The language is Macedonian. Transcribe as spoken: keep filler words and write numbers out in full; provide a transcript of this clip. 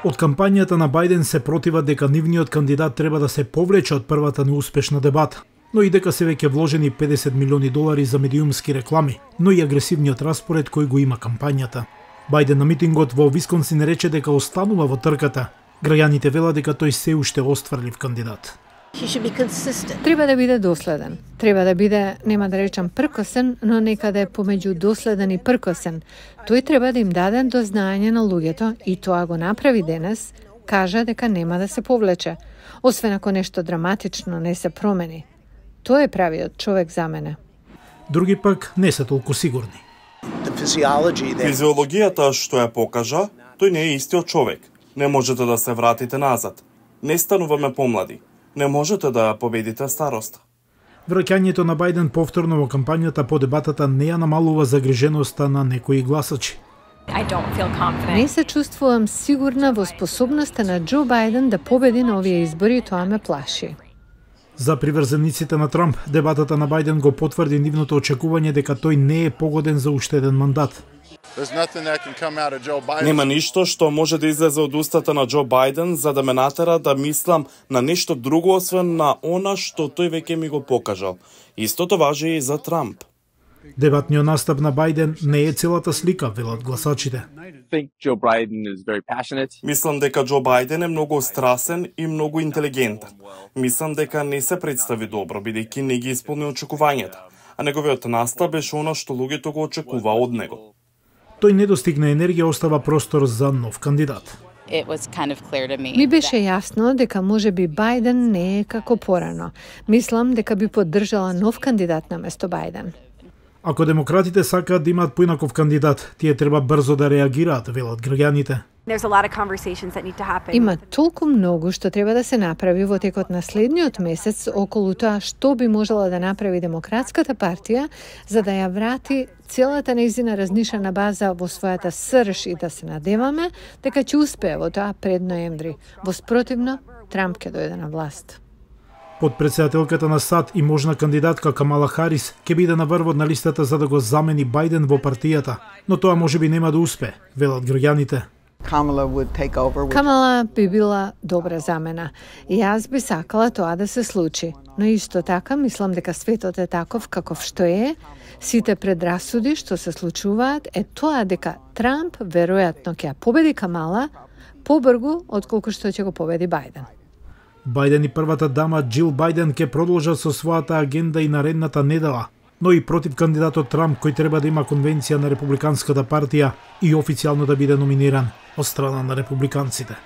Од кампањата на Бајден се противат дека нивниот кандидат треба да се повлече од првата неуспешна дебата, но и дека се веќе вложени педесет милиони долари за медиумски реклами, но и агресивниот распоред кој го има кампањата. Бајден на митингот во Висконсин рече дека останува во трката. Граѓаните велат дека тој се уште остварлив кандидат. Треба да биде доследен. Треба да биде, нема да речам пркосен, но некаде помеѓу доследен и пркосен. Тој треба да им даде до знаење на луѓето и тоа го направи денес, кажа дека нема да се повлече, освен ако нешто драматично не се промени. Тој е правиот човек за мене. Други пак не се толку сигурни. Физиологијата што ја покажа, тој не е истиот човек. Не можете да се вратите назад. Не стануваме помлади. Не можете да победите староста. Враќањето на Бајден повторно во кампањата по дебатата не ја намалува загриженоста на некои гласачи. Не се чувствувам сигурна во способноста на Џо Бајден да победи на овие избори и тоа ме плаши. За приврзениците на Трамп, дебатата на Бајден го потврди нивното очекување дека тој не е погоден за уште еден мандат. Нема ништо што може да излезе од устата на Џо Бајден за да ме натера да мислам на нешто друго освен на она што тој веќе ми го покажал. Истото важи и за Трамп. Дебатниот настап на Бајден не е целата слика, велат гласачите. Мислам дека Џо Бајден е многу страсен и многу интелигентен. Мислам дека не се представи добро, бидејќи не ги исполни очекувањата, а неговиот настап беше она што луѓето го очекува од него. Тој не достигна енергија, остава простор за нов кандидат. Ми беше јасно дека може би Бајден не е како порано. Мислам дека би поддржала нов кандидат на место Бајден. Ако демократите сакаат да имаат поинаков кандидат, тие треба брзо да реагираат, велат граѓаните. Има толку многу што треба да се направи во текот на следниот месец околу тоа што би можела да направи Демократската партија за да ја врати целата нејзина разнишана база во својата срж и да се надеваме дека ќе успее во тоа пред ноември. Во спротивно, Трамп ќе дојде на власт. Подпредседателката на САД и можна кандидатка Камала Харис ќе биде на врвот на листата за да го замени Бајден во партијата, но тоа можеби нема да успее, велат граѓаните. Камала би била добра замена. И јас би сакала тоа да се случи. Но исто така мислам дека светот е таков каков што е. Сите предрасуди што се случуваат е тоа дека Трамп веројатно ќе ја победи Камала побрзо отколку што ќе го победи Бајден. Бајден и првата дама Џил Бајден ќе продолжат со својата агенда и наредната недела, но и против кандидатот Трамп кој треба да има конвенција на Републиканската партија и официјално да биде номиниран од страна на републиканците.